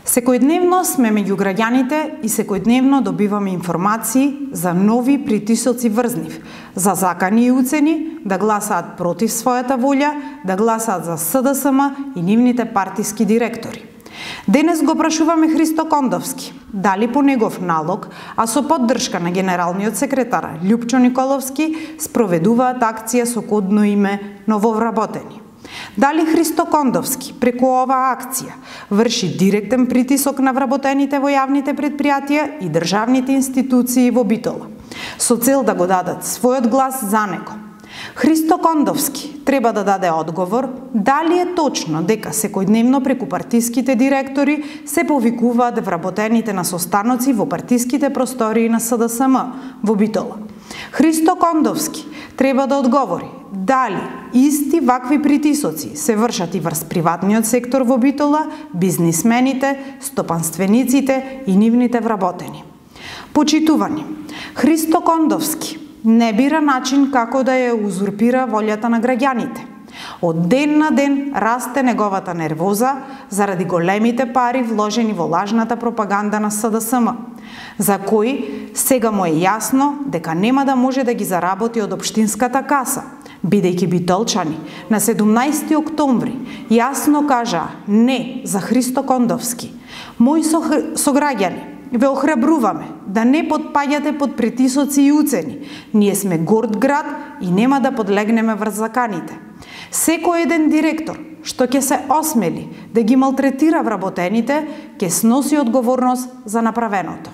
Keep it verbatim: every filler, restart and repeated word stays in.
Секојдневно сме меѓу граѓаните и секојдневно добиваме информации за нови притисоци врз нив, за закани и уцени да гласаат против својата волја, да гласаат за С Д С М и нивните партиски директори. Денес го прашуваме Христо Кондовски дали по негов налог, а со поддршка на генералниот секретар Љупчо Николовски, спроведуваат акција со кодно име Нововработени. Дали Христо Кондовски преку оваа акција врши директен притисок на вработените во јавните предпријатија и државните институции во Битола, со цел да го дадат својот глас за него. Христо Кондовски треба да даде одговор дали е точно дека секојдневно преку партиските директори се повикуваат вработените на состаноци во партиските простории на С Д С М во Битола. Христо Кондовски треба да одговори дали исти вакви притисоци се вршат и врз приватниот сектор во Битола, бизнисмените, стопанствениците и нивните вработени. Почитувани, Христо Кондовски не бира начин како да ја узурпира волјата на граѓаните. Од ден на ден расте неговата нервоза заради големите пари вложени во лажната пропаганда на С Д С М, за кои сега му е јасно дека нема да може да ги заработи од општинската каса, бидејќи битолчани на седумнаесети октомври јасно кажа не за Христо Кондовски. Мои сограѓани, ве охрабруваме да не потпаѓате под притисоци и уцени. Ние сме горд град и нема да подлегнеме врз заканите. Секој еден директор што ќе се осмели да ги малтретира вработените, ќе сноси одговорност за направеното.